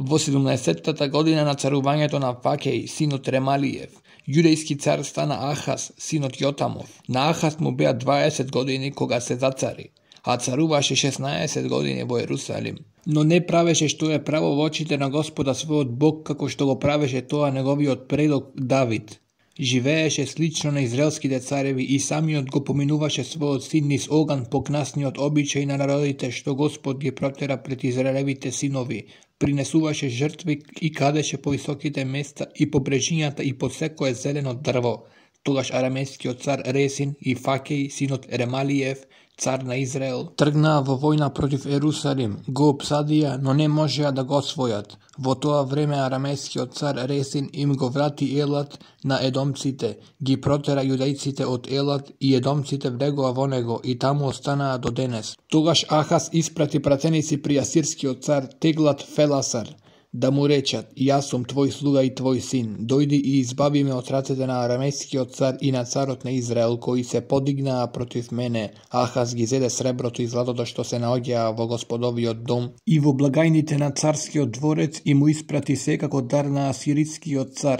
Во 17-та година на царувањето на Вакеј, синот Ремалиев, јудејски цар стана Ахаз, синот Јотамов. На Ахаз му беа 20 години кога се зацари, а царуваше 16 години во Ерусалим. Но не правеше што е право во очите на Господа својот Бог, како што го правеше тоа неговиот предок Давид. Живееше слично на израелските цареви и самиот го поминуваше својот син низ оган по кнасниот обичај на народите што Господ ги протера пред израелевите синови. Принесуваше жртви и кадеше по високите места и по брежињата и по секое зелено дрво. Тогаш арамејскиот цар Ресин и Вакеј, синот Ремалиев, цар на Израел, тргнаа во војна против Ерусалим, го опсадија, но не можеа да го освојат. Во тоа време арамејскиот цар Ресин им го врати Елат на едомците, ги протера јудејците од Елат и едомците влегоа во него и таму останаа до денес. Тогаш Ахаз испрати пратеници при асирскиот цар Теглат Феласар, да му речат: јас сум твој слуга и твој син, дојди и избави ме од рацете на арамејскиот цар и на царот на Израел, кои се подигнаа против мене. Ахаз ги зеде среброто и златото што се наоѓаа во Господовиот дом и во благајните на царскиот дворец и му испрати се како дар на асирискиот цар.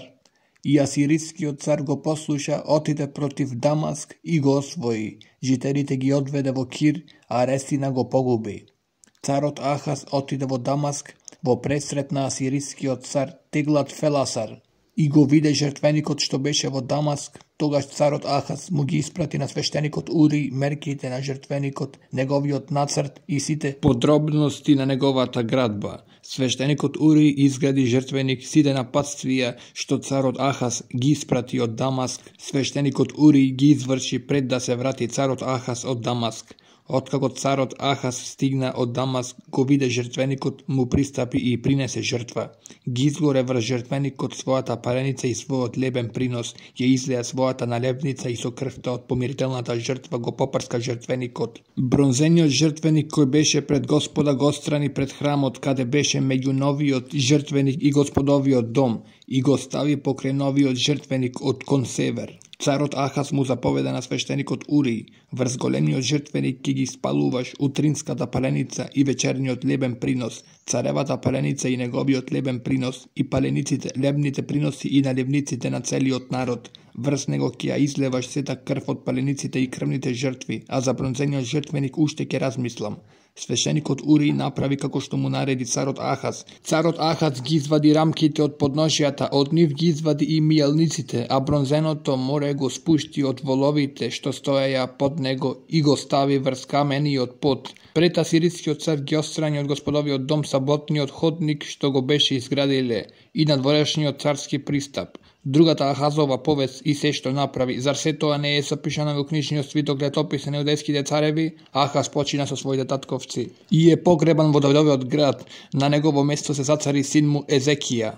И асирискиот цар го послуша, отиде против Дамаск и го освои. Жителите ги одведе во Кир, а Ресина го погуби. Царот Ахаз отиде во Дамаск во пресрет на асирискиот цар Теглат Феласар и го виде жртвеникот што беше во Дамаск. Тогаш царот Ахаз му ги испрати на свештеникот Ури мерките на жртвеникот, неговиот нацрт и сите подробности на неговата градба. Свештеникот Ури изгради жртвеник, сите напатствија што царот Ахаз ги испрати од Дамаск. Свештеникот Ури ги изврши пред да се врати царот Ахаз од Дамаск. Откако царот Ахаз стигна од Дамаск, го виде жртвеникот, му пристапи и принесе жртва. Ги изгоре врз жртвеникот својата пареница и својот лебен принос, ја излеа својата налебница и со крвта од помирителната жртва го попрска жртвеникот. Бронзениот жртвеник кој беше пред Господа го отстрани пред храмот каде беше меѓу новиот жртвеник и Господовиот дом и го стави покрај новиот жртвеник од кон север. Царот Ахаз му заповеда на свештеникот Ури: врз големиот жртвеник ќе ги спалуваш утринската паленица и вечерниот лебен принос, царевата паленица и неговиот лебен принос, и палениците, лебните приноси и наливниците на целиот народ. Врз него ќе ја излеваш сета крв од палениците и крвните жртви, а за бронзениот жртвеник уште ќе размислам. Свештеникот Ури направи како што му нареди царот Ахаз. Царот Ахаз ги извади рамките од подножјата, од нив ги извади и мијалниците, а бронзеното море го спушти од воловите што стоеја под него и го стави врз камениот под. Пред асирискиот цар ги отстрани од Господовиот дом саботниот ходник што го беше изградиле и надворешниот царски пристап. Другата Ахазова повест и се што направи, зар се тоа не е запишано во книжниот свиток летописи на јудејските цареви? Ахаз почина со своите татковци и е погребан во Давидовиот град. На негово место се зацари син му Езекија.